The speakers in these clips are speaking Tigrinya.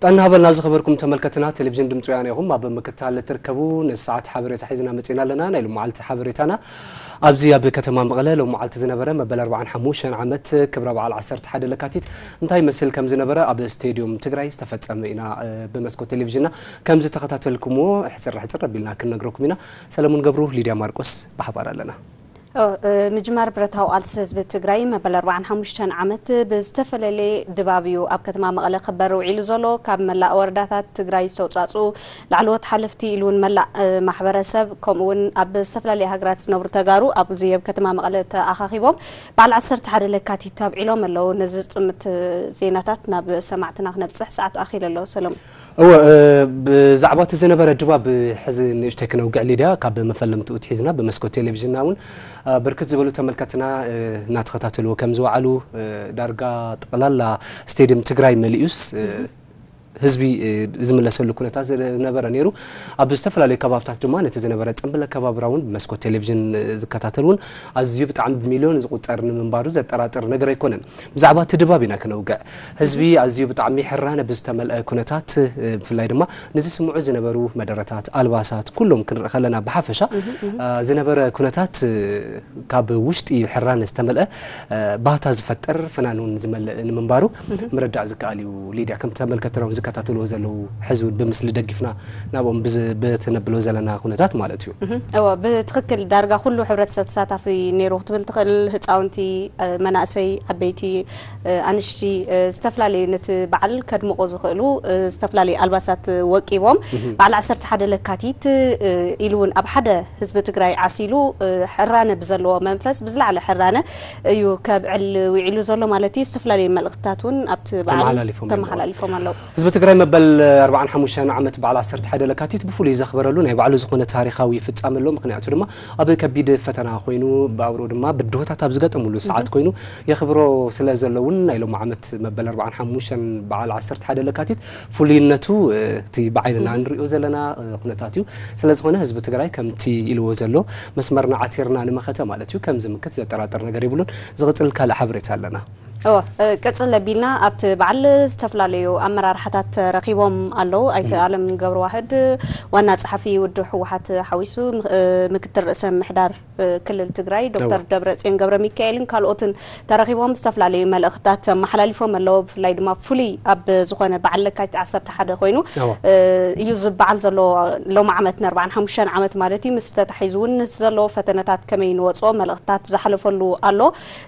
ጥዕና ሃበልና ዝኸበርኩም ተመልከትና፣ ቴሌቪዥን ድምፂ ወያነ ኢኹም ኣብ ምክታል ትርከቡ። ንሰዓት ሓበሬታ ሒዝና መፂና ኣለና። ናይ ሎመዓልቲ ሓበሬታና ኣብዚ ኣብ ከተማ መቐለ ሎመዓልቲ ዝነበረ መበል ኣርባዓን ሓሙሽተን ዓመት ክብረ በዓል ዓሰርተ ሓደ ለካቲት እንታይ መስል ከም ዝነበረ ኣብ ስቴድዮም ትግራይ ዝተፈጸመ ኢና፣ እ፣ ብመስኮት ቴሌቪዥንና ከም ዝተኸታተልኩምዎ ሕፅር ሕፅር ኣቢልና ክንነግረኩም ኢና። ሰለሙን ገብሩ፣ ሊድያ ማርቆስ ብሓባር ኣለና። ኦ፣ እ፣ ምጅማር ብረታዊ ቃልሲ ህዝቢ ትግራይ መበል ኣርባዓን ሓሙሽተን ዓመት ብዝተፈላለየ ድባብ እዩ ኣብ ከተማ መቐለ ክበር ውዒሉ ዘሎ። ካብ መላእ ወረዳታት ትግራይ ዝተውፃፅኡ ላዕለዎት ሓለፍቲ ኢሉ እውን መላእ፣ እ፣ ማሕበረሰብ፣ ከምኡ እውን ኣብ ዝተፈላለየ ሃገራት ዝነብሩ ተጋሩ ኣብዚ ኣብ ከተማ መቐለ ተኣኻኺቦም በዓል ዓሰርተ ሓደ ለካቲት ኣብዒሎም ኣለዉ። ነዚ ዝጥምት ዜናታት ናብ ሰማዕትና ክነብፅሕ ሰዓቱ ኣኺሉ ኣሎ። ሰለሙን። እወ፣ እ፣ ብዛዕባ እቲ ዝነበረ ድባብ ሕዚ ንእሽተይ ክነውግዕ ሊድያ፣ ካብ መፈለምትኡ ትሒዝና ብመስኮት ቴሌቪዥንና እውን፣ እ፣ ብርክት ዝበሉ ተመልከትና፣ እ፣ እናተኸታተልዎ ከም ዝወዓሉ፣ እ፣ ዳርጋ ጠቕላላ ስቴድየም ትግራይ መሊኡስ፣ እ፣ ህዝቢ፣ እ፣ ዝምለሰሉ ኩነታት ዝነበረ ነይሩ። ኣብ ዝተፈላለዩ ከባብታት ድማ ነቲ ዝነበረ ጽንብል ኣከባብራ እውን ብመስኮት ቴሌቪዥን፣ እ፣ ዝከታተል እውን ኣዝዩ ብጣዕሚ ብሚልዮን ዝቑጸር ንምንባሩ ዘጠራጥር ነገር ኣይኮነን። ብዛዕባ እቲ ድባብ ኢና ክነውግዕ። ህዝቢ ኣዝዩ ብጣዕሚ ሕራነ ብዝተመልአ ኩነታት፣ እ፣ ብፍላይ ድማ ንዝስምዑ ዝነበሩ መደረታት፣ ኣልባሳት፣ ኩሎም ክንርኢ ከለና ብሓፈሻ፣ እ፣ ዝነበረ ኩነታት፣ እ፣ ካብ ውሽጢ ሕራነ ዝተመልአ፣ እ፣ ባህታ ዝፈጥር ፍናን እውን ዝመልእ ንምንባሩ ምርዳእ ዝከኣል እዩ። ሊድያ፣ ከም ተመልከትና እውን ዝከታተልዎ ዘለዉ ሕዚ እውን ብምስሊ ደጊፍና ናብኦም ብዝ-፣ ብትነብሎ ዘለና ኩነታት ማለት እዩ። እወ፣ ብትኽክል ዳርጋ ኩሉ ሕብረተሰብ ተሳታፊ ነይሩ ክትብል ትኽእል። ህፃውንቲ፣ እ፣ መናእሰይ፣ ዓበይቲ፣ እ፣ ኣንሽቲ፣ እ፣ ዝተፈላለዩ ነቲ በዓል ከድምቑ ዝኽእሉ፣ እ፣ ዝተፈላለዩ ኣልባሳት ወቂቦም በዓል ዓሰርተ ሓደ ለካቲት፣ እ፣ ኢሉ እውን ኣብ ሓደ ህዝቢ ትግራይ ዓሲሉ፣ እ፣ ሕራነ ብዘለዎ መንፈስ ብዝለዓለ ሕራነ እዩ ከብዕል ውዒሉ ዘሎ ማለት እዩ። ዝተፈላለዩ መልእኽትታት እውን ኣብቲ በዓል ተመሓላሊፎም ኣለዉ። ተመሓላሊፎም ኣለዉ። ህዝቢ ትግራይ መበል ኣርባዓን ሓሙሽተን ዓመት በዓል ዓሰርተ ሓደ ለካቲት ብፍሉይ ዘኽበረሉ ናይ ባዕሉ ዝኾነ ታሪኻዊ ፍጻመ ኣሎ። ምኽንያቱ ድማ ኣብ ከቢድ ፈተና ኮይኑ፣ ብኣውርኡ ድማ ብድሆታት ኣብ ዝገጠሙሉ ሰዓት ኮይኑ የኽብሮ ስለ ዘሎ እውን ናይ ሎሚ ዓመት መበል ኣርባዓን ሓሙሽተን በዓል ዓሰርተ ሓደ ለካቲት ፍሉይነቱ፣ እ፣ እቲ ብዓይንና እንሪኦ ዘለና፣ እ፣ ኩነታት እዩ። ስለ ዝኾነ ህዝቢ ትግራይ ከምቲ ኢልዎ ዘሎ መስመርና ዓቲርና ንመኸተ ማለት እዩ። ከም ዝምክት ዘጠራጥር ነገር የብሉን። ዝቕጽል ካልእ ሓበሬታ ኣለና። እወ፣ እ፣ ቅጽል ኣቢልና ኣብቲ በዓል ዝተፈላለዩ ኣመራርሓታት ተረኺቦም ኣለዉ። ኣይተ ኣለም ገብረዋህድ ዋና ጸሓፊ ውድብ ህወሓት ሓዊሱ፣ ም-፣ እ፣ ምክትል ርእሰ ምሕዳር፣ እ፣ ክልል ትግራይ ዶክተር እወ። ደብረጽዮን ገብረ ሚካኤልን ካልኦትን ተረኺቦም ዝተፈላለዩ መልእኽትታት ኣመሓላሊፎም ኣለዉ። ብፍላይ ድማ ፍሉይ ኣብ ዝኾነ በዓል ለካቲት ዓሰርተ ሓደ ኮይኑ፣ እወ። እ፣ እዩ ዝበዓል ዘሎ ሎም ዓመት ን ኣርባዓን ሓሙሽተን ዓመት ማለት እዩ። ምስ ተታሒዙ እውን ምስ ዘለዎ ፈተነታት ከመይ ንወፅኦ መልእኽትታት ዝሓለፈሉ ኣሎ።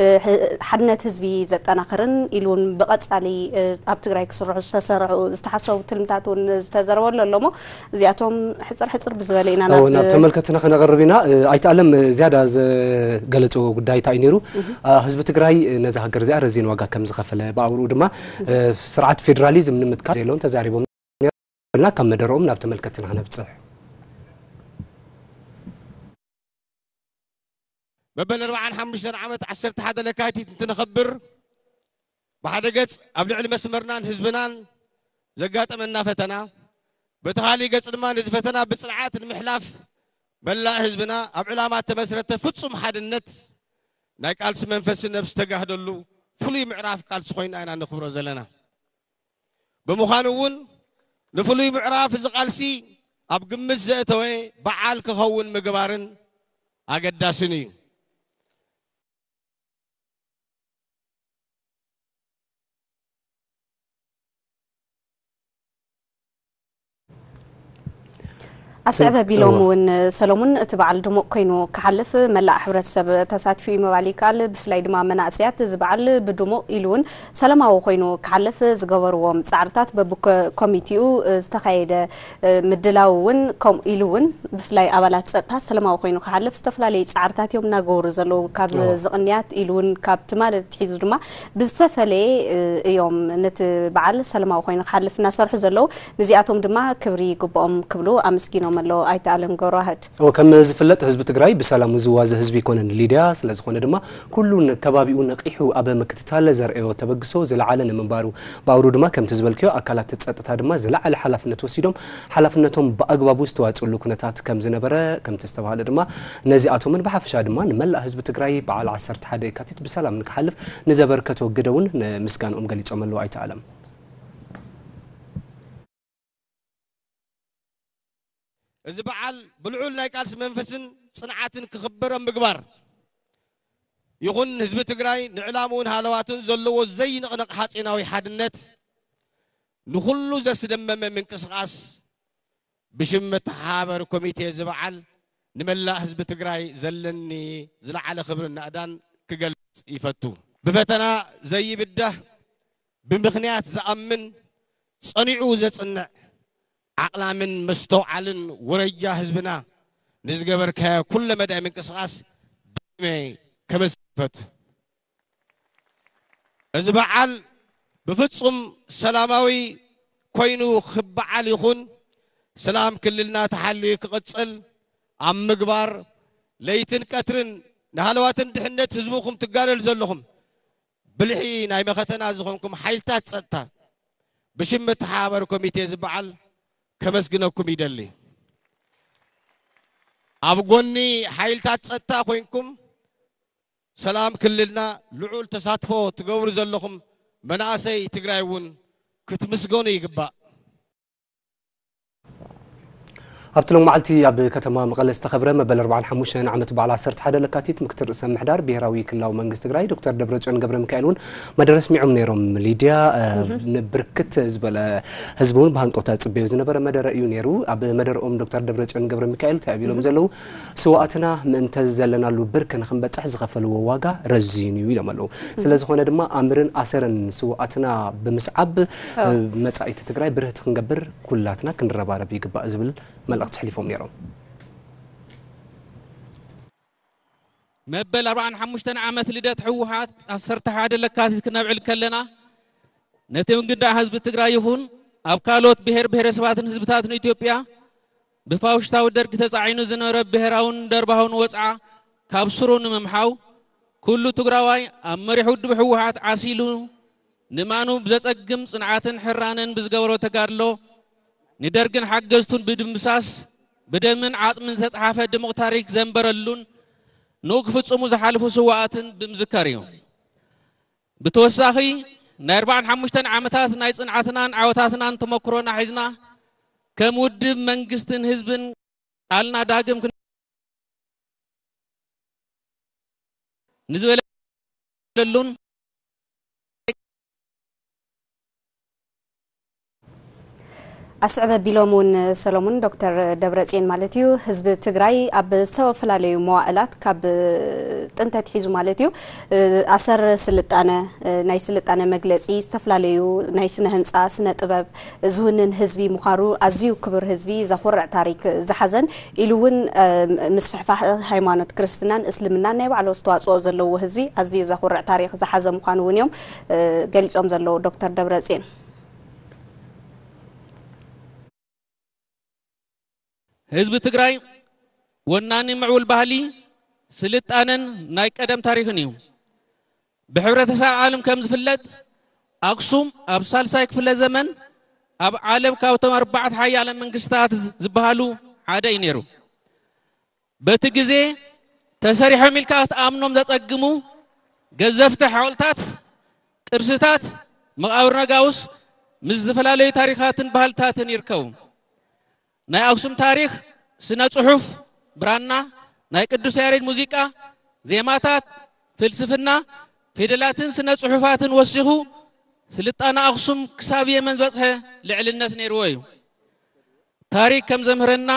እ፣ ሕ-፣ ሓድነት ህዝቢ ዘጠናኽርን ኢሉ እውን ብቐጻሊ፣ እ፣ ኣብ ትግራይ ክስርሑ ዝተሰርሑ ዝተሓሰቡ ትልምታት እውን ዝተዘረበሉ ኣሎ እሞ እዚኣቶም ሕፅር ሕፅር ብዝበለ ኢና እዎ፣ ናብ ናብ ተመልከትና ከነቕርብ ኢና። እ፣ ኣይተ ኣለም፣ እ፣ ዝያዳ ዘገለፅዎ ጉዳይ እንታይ እዩ ነይሩ? እ፣ ህዝቢ ትግራይ፣ እ፣ ነዛ ሃገር እዚኣ ረዚን ዋጋ ከም ዝኸፈለ፣ ብኣውርኡ ድማ፣ እ፣ ስርዓት ፌዴራሊዝም ንምትካል ዘለዎም ተዛሪቦም ነይሮም። ካብ መደረኦም ናብ ተመልከትና ክነብፅሕ። መበል ኣርባዓን ሓሙሽተን ዓመት ዓሰርተ ሓደ ለካቲት እንትነኸብር፣ ብሓደ ገጽ ኣብ ልዕሊ መስመርናን ህዝብናን ዘጋጠመና ፈተና፣ በቲ ካልእ ገጽ ድማ ነዚ ፈተና ብጽንዓት ንምሕላፍ መላእ ህዝብና ኣብ ዕላማ እተመስረተ ፍጹም ሓድነት ናይ ቃልሲ መንፈስን ነብሲ ተጋህደሉ ፍሉይ ምዕራፍ ቃልሲ ኮይና ኢና ነኽብሮ ዘለና። ብምዃኑ እውን ንፍሉይ ምዕራፍ እዚ ቃልሲ ኣብ ግምት ዘእተወ በዓል ክኸውን ምግባርን ኣገዳስን እዩ። ኣስዕብ ኣቢሎም እውን ሰለሙን እቲ በዓል ድሙቕ ኮይኑ ክሓልፍ መላእ ሕብረተሰብ ተሳቲፉ እዩ ምባል ይከኣል። ብፍላይ ድማ መናእሰያት እዚ በዓል ብድሙቕ ኢሉ እውን ሰላማዊ ኮይኑ ክሓልፍ ዝገበርዎም ጻዕርታት በብኮሚቴኡ ዝተኻየደ ምድላው እውን ከምኡ ኢሉ እውን ብፍላይ ኣባላት ጸጥታ ሰላማዊ ኮይኑ ክሓልፍ ዝተፈላለዩ ጻዕርታት እዮም እናገበሩ ዘለዉ። ካብ ዝቕንያት ኢሉ እውን ካብ ትማሊ ኣትሒዙ ድማ ብዝተፈለየ እዮም ነቲ በዓል ሰላማዊ ኮይኑ ክሓልፍ እናሰርሑ ዘለዉ። ነዚኣቶም ድማ ክብሪ ይግብኦም ክብሉ ኣመስጊኖም ኣለዉ ኣይተ ኣለም ገብረዋህድ። እወ፣ ከም ዝፍለጥ ህዝቢ ትግራይ ብሰላሙ ዝዋዘ ህዝቢ ኣይኮነን ሊድያ። ስለ ዝኾነ ድማ ኩሉ ከባቢኡ ነቒሑ ኣብ ምክትታል ዘርእዮ ተበግሶ ዝለዓለ ንምንባሩ፣ ብኣውሩ ድማ ከምቲ ዝበልክዮ ኣካላት ጸጥታ ድማ ዝለዓለ ሓላፍነት ወሲዶም ሓላፍነቶም ብኣግባቡ ዝተዋፅእሉ ኩነታት ከም ዝነበረ ከምቲ ዝተባህለ ድማ ነዚኣቶምን ብሓፈሻ ድማ ንመላእ ህዝቢ ትግራይ በዓል ዓሰርተ ሓደ የካቲት ብሰላም ንክሓልፍ ንዘበርከቶ ግደ እውን ንምስጋንኦም ገሊፆም ኣለዉ ኣይተ ኣለም። እዚ በዓል ብልዑል ናይ ቃልሲ መንፈስን ጽንዓትን ክኽበር ኣብ ምግባር ይኹን፣ ህዝቢ ትግራይ ንዕላምኡን ሃለዋቱን ዘለዎ ዘይንቕነቕ ሓጺናዊ ሓድነት ንኹሉ ዘስደመመ ምንቅስቓስ ብሽም መተሓባበሪ ኮሚቴ እዚ በዓል ንመላእ ህዝቢ ትግራይ ዘለኒ ዝለዓለ ክብርን ናእዳን ክገልጽ ይፈቱ። ብፈተና ዘይብዳህ፣ ብምኽንያት ዝኣምን፣ ጸኒዑ ዘጽንዕ፣ ዓቕላምን መስተውዓልን ወረጃ ህዝብና ንዝገበርካዮ ኩለ መዳይ ምንቅስቓስ ዳግመ ከመስግን እፈቱ። እዚ በዓል ብፍጹም ሰላማዊ ኮይኑ ክበዓል ይኹን፣ ሰላም ክልልና ተሓልዩ ክቕጽል ኣብ ምግባር ለይትን ቀትርን ንሃለዋትን ድሕነት ህዝብኹም ትጋደሉ ዘለኹም ብልሒ ናይ መኸተና ዝኾንኩም ሓይልታት ጸጥታ ብሽም መተሓባበሪ ኮሚቴ ዝበዓል ከመስግነኩም ይደሊ። ኣብ ጎኒ ሓይልታት ጸጥታ ኮይንኩም ሰላም ክልልና ልዑል ተሳትፎ ትገብሩ ዘለኹም መናእሰይ ትግራይ እውን ክትምስገኑ ይግባእ። ኣብቲ ሎሚ መዓልቲ ኣብ ከተማ መቐለ ዝተኸብረ መበል ኣርባዓን ሓሙሽተን ዓመት በዓል ዓሰርተ ሓደ ለካቲት ምክትል ርእሰ ምሕዳር ብሄራዊ ክልላዊ መንግስቲ ትግራይ ዶክተር ደብረፅዮን ገብረ ሚካኤል እውን መደረ ኣስሚዖም ነይሮም። ሊድያ፣ እ፣ ንብርክት ዝበለ ህዝቢ እውን ብሃንቀውታ ዝፅበዮ ዝነበረ መደረ እዩ ነይሩ። ኣብ መደረኦም ዶክተር ደብረፅዮን ገብረ ሚካኤል እንታይ እዮም ኢሎም ዘለዉ? ስውኣትና ምእንተ ዘለናሉ ብርኪ ንክንበፅሕ ዝኸፈልዎ ዋጋ ረዚን እዩ ኢሎም ኣለዉ። ስለዝኾነ ድማ ኣምርን ኣሰርን ስውኣትና ብምስዓብ፣ እ፣ መጻኢቲ ትግራይ ብርህቲ ክንገብር ኩላትና ክንረባረብ ይግባእ ዝብል መልእኽቲ ኣሕሊፎም ነይሮም። መበል ኣርባዓን ሓሙሽተን ዓመት ልደት ህወሓት ዓሰርተ ሓደ ለካቲት ክነብዕል ከለና ነቲ ውግዳእ ህዝቢ ትግራይ ይኹን ኣብ ካልኦት ብሄር ብሄረሰባትን ህዝብታትን ኢትዮጵያ ብፋውሽታዊ ደርጊ ተጻዒኑ ዝነበረ ብሄራውን ደርባውን ወጽዓ ካብ ስሩ ንምምሓው ኩሉ ትግራዋይ ኣብ መሪሕ ውድብ ህወሓት ዓሲሉ ንማኑ ብዘጸግም ጽንዓትን ሕራነን ብዝገበሮ ተጋድሎ ንደርግን ሓገዝቱን ብድምሳስ ብደምን ዓጽምን ዝተጽሓፈ ድሙቕ ታሪክ ዘንበረሉን ንኡ ክፍጽሙ ዝሓለፉ ስውኣትን ብምዝካር እዩ። ብተወሳኺ ናይ ኣርባዓን ሓሙሽተን ዓመታት ናይ ጽንዓትናን ዓወታትናን ተመክሮና ሒዝና ከም ውድብ መንግስትን ህዝብን ቃልና ዳግም ክን ንዝበለሉን ኣስዕብ ኣቢሎም እውን ሰሎሙን ዶክተር ደብረፅዮን ማለት እዩ ህዝቢ ትግራይ ኣብ ዝተፈላለዩ መዋእላት ካብ ጥንተ ኣትሒዙ ማለት እዩ ኣሰር ስልጣነ ናይ ስልጣነ መግለፂ ዝተፈላለዩ ናይ ስነ ህንፃ ስነ ጥበብ ዝውንን ህዝቢ ምዃኑ ኣዝዩ ክቡር ህዝቢ ዘኹርዕ ታሪክ ዝሓዘን ኢሉ እውን ምስፍሕፋሕ ሃይማኖት ክርስትናን እስልምናን ናይ ባዕሉ ኣስተዋፅኦ ዘለዎ ህዝቢ ኣዝዩ ዘኹርዕ ታሪክ ዝሓዘ ምዃኑ እውን እዮም ገሊፆም ዘለዉ ዶክተር ደብረፅዮን። ህዝቢ ትግራይ ወናኒ ምዕቡል ባህሊ ስልጣነን ናይ ቀደም ታሪክን እዩ። ብሕብረተሰብ ዓለም ከም ዝፍለጥ ኣክሱም ኣብ ሳልሳይ ክፍለ ዘመን ኣብ ዓለም ካብቶም ኣርባዕተ ሓያለ መንግስታት ዝበሃሉ ሓደ እዩ ነይሩ። በቲ ግዜ ተሰሪሖም ኢልካ ክትኣምኖም ዘጸግሙ ገዘፍቲ ሓወልታት፣ ቅርስታት፣ መቓብር ነጋውስ ምስ ዝተፈላለዩ ታሪኻትን ባህልታትን ይርከቡ። ናይ ኣክሱም ታሪኽ፣ ስነ ጽሑፍ፣ ብራና፣ ናይ ቅዱስ ያሬድ ሙዚቃ፣ ዜማታት፣ ፍልስፍና፣ ፊደላትን ስነ ጽሑፋትን ወሲኹ ስልጣነ ኣክሱም ክሳብ የመን ዝበጽሐ ልዕልነት ነይርዎ እዩ። ታሪክ ከም ዘምህረና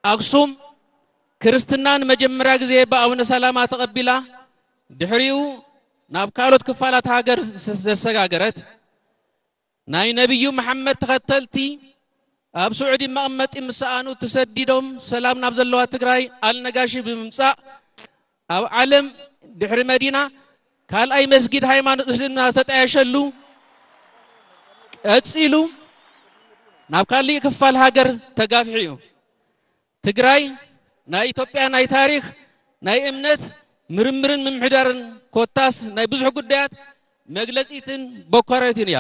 ኣክሱም ክርስትና ንመጀመርያ ግዜ ብኣቡነ ሰላማ ተቐቢላ ድሕሪኡ ናብ ካልኦት ክፋላት ሃገር ዘሰጋገረት ናይ ነቢዩ መሓመድ ተኸተልቲ ኣብ ስዑዲ መቐመጢ ምስ ሰኣኑ ተሰዲዶም ሰላም ናብ ዘለዋ ትግራይ ኣልነጋሺ ብምምፃእ ኣብ ዓለም ድሕሪ መዲና ካልኣይ መስጊድ ሃይማኖት እስልምና ዝተጣየሸሉ ቀፂሉ ናብ ካሊእ ክፋል ሃገር ተጋፊሑ እዩ። ትግራይ ናይ ኢትዮጵያ ናይ ታሪክ ናይ እምነት ምርምርን ምምሕዳርን ኮታስ ናይ ብዙሕ ጉዳያት መግለፂትን በኳራይትን እያ።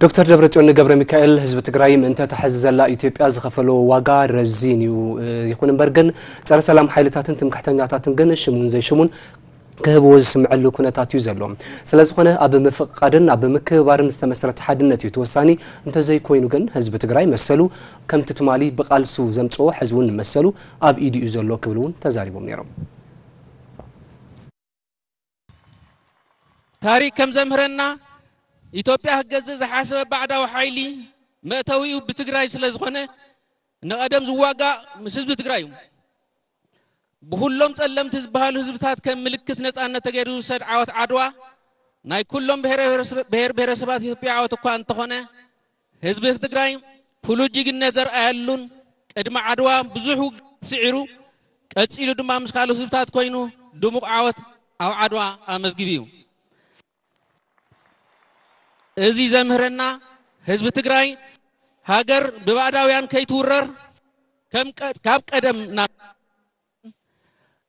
ዶክተር ደብረፅዮን ገብረ ሚካኤል ህዝቢ ትግራይ ምእንተ እታ ሕዚ ዘላ ኢትዮጵያ ዝኸፈሎ ዋጋ ረዚን እዩ። ይኹን እምበር ግን ፀረ ሰላም ሓይልታትን ትምክሕተኛታትን ግን ሽሙን ዘይሽሙን ክህብዎ ዝስምዐሉ ኩነታት እዩ ዘሎ። ስለዝኾነ ኣብ ምፍቕቓድን ኣብ ምክብባርን ዝተመስረተ ሓድነት እዩ ተወሳኒ። እንተዘይኮይኑ ግን ህዝቢ ትግራይ መሰሉ ከምቲ ትማሊ ብቓልሱ ዘምጽኦ ሕዚ እውን መሰሉ ኣብ ኢዱ እዩ ዘሎ ክብል እውን ተዛሪቦም ነይሮም። ታሪክ ከም ዘምህረና ኢትዮጵያ ክገዝእ ዝሓሰበ ባዕዳዊ ሓይሊ መእተዊኡ ብትግራይ ስለዝኾነ ንቐደም ዝዋጋእ ምስ ህዝቢ ትግራይ እዩ። ብኹሎም ጸለምቲ ዝበሃሉ ህዝብታት ከም ምልክት ነጻነት ተገይሩ ዝውሰድ ዓወት ዓድዋ ናይ ኩሎም ብሔር ብሔረሰባት ኢትዮጵያ ዓወት እኳ እንተኾነ ህዝቢ ትግራይ ፍሉይ ጅግነት ዘርኣየሉን ቅድሚ ዓድዋ ብዙሕ ውግእ ስዒሩ ቀጺሉ ድማ ምስ ካልኦት ህዝብታት ኮይኑ ድሙቕ ዓወት ኣብ ዓድዋ ኣመዝጊቡ እዩ። እዚ ዘምህረና ህዝቢ ትግራይ ሃገር ብባዕዳውያን ከይትውረር ከም ቀ- ካብ ቀደም ናብ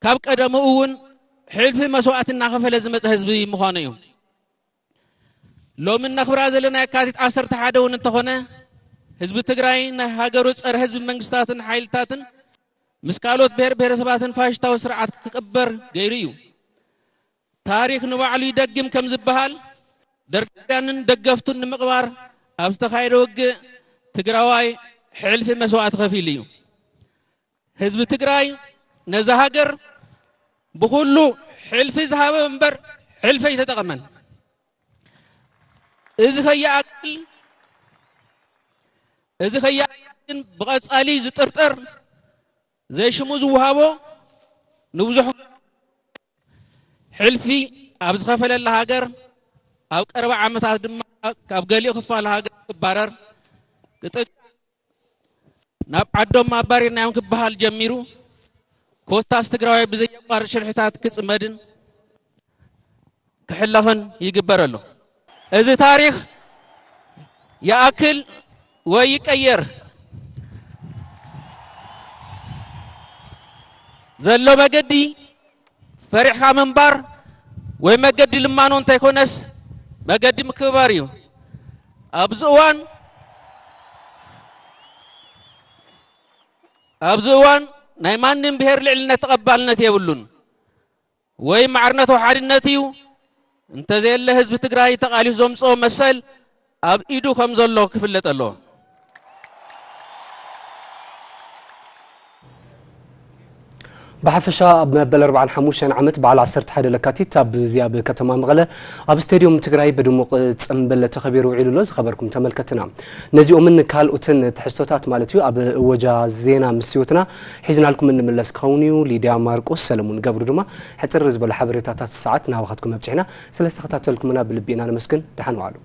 ካብ ቀደሙ እውን ሕልፊ መስዋእቲ እናኸፈለ ዝመፀ ህዝቢ ምዃኑ እዩ። ሎሚ እነኽብራ ዘለና የካቲት ዓሰርተ ሓደ እውን እንተኾነ ህዝቢ ትግራይ ናይ ሃገሩ ፀረ ህዝቢ መንግስታትን ሓይልታትን ምስ ካልኦት ብሔር ብሔረሰባትን ፋሽስታዊ ስርዓት ክቕበር ገይሩ እዩ። ታሪክ ንባዕሉ ይደግም ከም ዝበሃል ደርጋውያንን ደገፍቱን ንምቕባር ኣብ ዝተኻየደ ውግእ ትግራዋይ ሕልፊ መስዋእቲ ከፊሉ እዩ። ህዝቢ ትግራይ ነዛ ሃገር ብኹሉ ሕልፊ ዝሃበ እምበር ሕልፊ ኣይተጠቐመን። እዚ ከይኣክል እዚ ከይኣክል ግን ብቐጻሊ ዝጥርጠር ዘይሽሙ ዝወሃቦ ንብዙሕ ሕልፊ ኣብ ዝኸፈለላ ሃገር ኣብ ቀረባ ዓመታት ድማ ካብ ገሊኡ ክፋል ሃገር ክባረር ክጥቃ ናብ ዓዶም ኣባሪርናዮም ክበሃል ጀሚሩ ኮታስ ትግራዋይ ብዘየቋርጥ ሽርሕታት ክጽመድን ክሕለኽን ይግበር ኣሎ። እዚ ታሪኽ ይኣክል ወይ ይቀየር ዘሎ መገዲ ፈሪሕካ ምንባር ወይ መገዲ ልማኖ እንተይኮነስ መገዲ ምክብባር እዩ። ኣብዚ እዋን ኣብዚ እዋን ናይ ማንም ብሔር ልዕልነት ተቐባልነት የብሉን። ወይ ማዕርነቱ ሓድነት እዩ። እንተዘየለ ህዝቢ ትግራይ ተቓሊሱ ዘምፅኦ መሰል ኣብ ኢዱ ከም ዘሎ ክፍለጥ ኣለዎ። ብሓፈሻ ኣብ መበል ኣርባዓን ሓሙሽተን ዓመት በዓል ዓሰርተ ሓደ ለካቲት ኣብዚ ኣብ ከተማ መቐለ ኣብ ስቴድዮም ትግራይ ብድሙቕ ፅምብል ተኸቢሩ ውዒሉ ኣሎ። ዝኸበርኩም ተመልከትና ነዚኦምን ካልኦትን ትሕዝቶታት ማለት እዩ ኣብ እወጃ ዜና ምስ ህይወትና ሒዝናልኩም እንምለስ ክኸውን እዩ። ሊድያ ማርቆስ ሰለሙን ገብሩ ድማ ሕፅር ዝበለ ሓበሬታታት ሰዓት ናባኻትኩም ኣብፅሕና። ስለዝተኸታተልኩምና ብልቢ ኢና ነመስግን። ደሓን ዋሉ።